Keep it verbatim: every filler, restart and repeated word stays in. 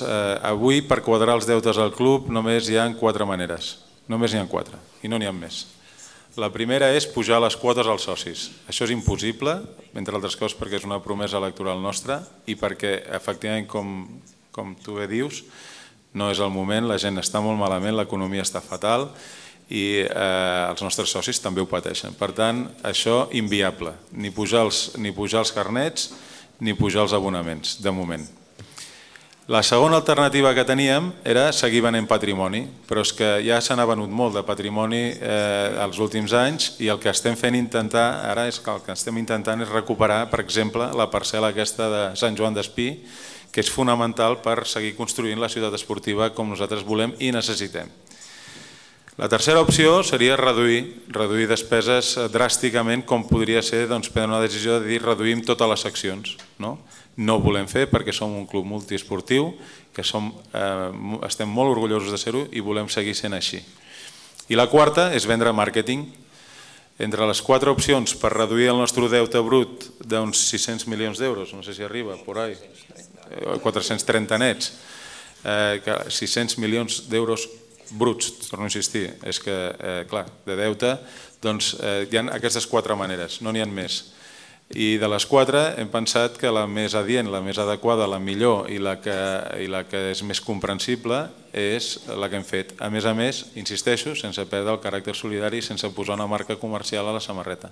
deutes, avui per quadrar els deutes al club només hi ha quatre maneres, només n'hi ha quatre i no n'hi ha més. La primera és pujar les quotes als socis. Això és impossible, entre altres coses perquè és una promesa electoral nostra i perquè, efectivament, com tu bé dius, no és el moment, la gent està molt malament, l'economia està fatal i els nostres socis també ho pateixen. Per tant, això inviable, ni pujar els carnets ni pujar els abonaments, de moment. La segona alternativa que teníem era seguir venent patrimoni, però és que ja se n'ha venut molt de patrimoni els últims anys i el que estem fent intentar ara és que el que estem intentant és recuperar, per exemple, la parcel·la aquesta de Sant Joan d'Espí, que és fonamental per seguir construint la ciutat esportiva com nosaltres volem i necessitem. La tercera opció seria reduir, reduir despeses dràsticament, com podria ser prendre una decisió de dir reduïm totes les seccions. No ho volem fer perquè som un club multiesportiu, que estem molt orgullosos de ser-ho i volem seguir sent així. I la quarta és vendre màrqueting. Entre les quatre opcions per reduir el nostre deute brut d'uns sis-cents milions d'euros, no sé si arriba, por ahí, quatre-cents trenta nets, sis-cents milions d'euros bruts, torno a insistir, és que, clar, de deute, doncs hi ha aquestes quatre maneres, no n'hi ha més. I de les quatre hem pensat que la més adient, la més adequada, la millor i la que és més comprensible és la que hem fet. A més a més, insisteixo, sense perdre el caràcter solidari i sense posar una marca comercial a la samarreta.